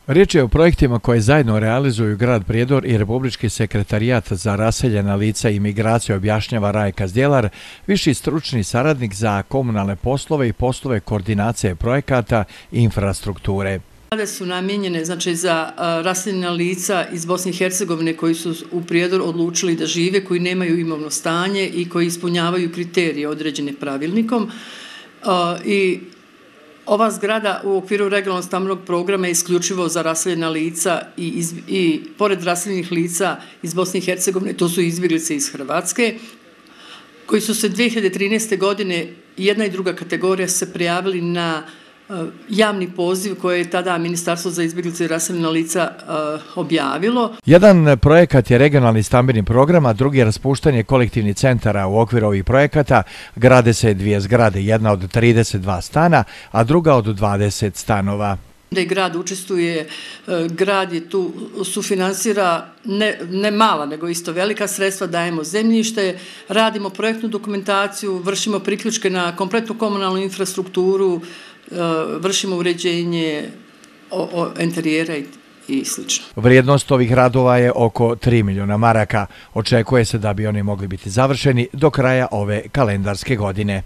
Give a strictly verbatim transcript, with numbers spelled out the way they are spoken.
Riječ je o projektima koje zajedno realizuju grad Prijedor i Republički sekretarijat za raseljena lica i migracije, objašnjava Rajka Zdjelar, viši stručni saradnik za komunalne poslove i poslove koordinacije projekata i infrastrukture. Zgrade su namijenjene znači, za raseljena lica iz Bosne i Hercegovine koji su u Prijedor odlučili da žive, koji nemaju imovno stanje i koji ispunjavaju kriterije određene pravilnikom. I ova zgrada u okviru regionalnog stambenog programa je isključivo za raseljena lica i, iz, i pored raseljenih lica iz Bosne i Hercegovine, to su izbjeglice iz Hrvatske, koji su se dvije hiljade trinaeste. godine jedna i druga kategorija se prijavili na uh, javni poziv koje je tada Ministarstvo za izbjeglice i raseljena lica uh, objavilo. Jedan projekat je regionalni stambeni program, a drugi je raspuštanje kolektivnih centara. U okviru ovih projekata grade se dvije zgrade, jedna od trideset dva stana, a druga od dvadeset stanova. Da je grad učestvuje, grad je tu sufinansira ne, ne mala, nego isto velika sredstva, dajemo zemljište, radimo projektnu dokumentaciju, vršimo priključke na kompletnu komunalnu infrastrukturu, vršimo uređenje o, o interijera i, i sl. Vrijednost ovih radova je oko tri milijuna maraka. Očekuje se da bi oni mogli biti završeni do kraja ove kalendarske godine.